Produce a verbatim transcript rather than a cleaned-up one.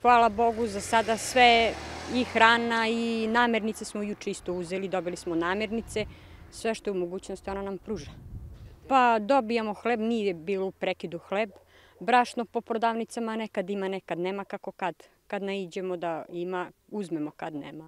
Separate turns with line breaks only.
hvala Bogu, za sada sve i hrana i namirnice smo juče isto uzeli, dobili smo namirnice, sve što je u mogućnosti ona nam pruža. Pa dobijamo hleb, nije bilo u prekidu hleb, brašno po prodavnicama nekad ima, nekad nema, kako kad. Kad naiđemo da ima, uzmemo, kad nema.